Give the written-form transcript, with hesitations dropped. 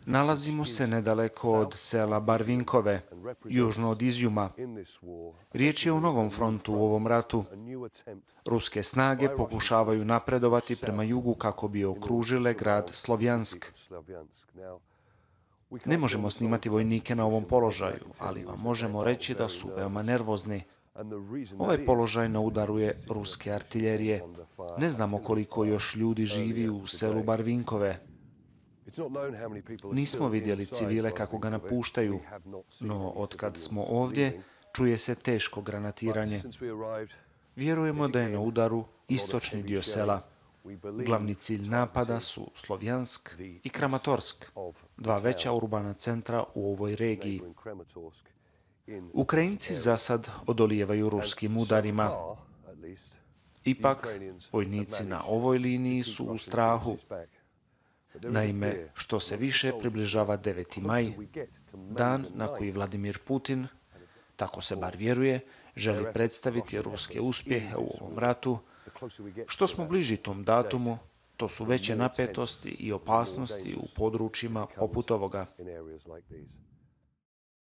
Nalazimo se nedaleko od sela Barvinkove, južno od Izjuma. Riječ je o novom frontu u ovom ratu. Ruske snage pokušavaju napredovati prema jugu kako bi okružile grad Slovjansk. Ne možemo snimati vojnike na ovom položaju, ali vam možemo reći da su veoma nervozni. Ovaj položaj na udaru je ruske artiljerije. Ne znamo koliko još ljudi živi u selu Barvinkove. Nismo vidjeli civile kako ga napuštaju, no otkad smo ovdje, čuje se teško granatiranje. Vjerujemo da je na udaru istočni dio sela. Glavni cilj napada su Slovjansk i Kramatorsk, dva veća urbana centra u ovoj regiji. Ukrajinci za sad odolijevaju ruskim udarima. Ipak, vojnici na ovoj liniji su u strahu. Naime, što se više približava 9. maj, dan na koji Vladimir Putin, tako se bar vjeruje, želi predstaviti ruske uspjehe u ovom ratu. Što smo bliži tom datumu, to su veće napetosti i opasnosti u područjima poput ovoga.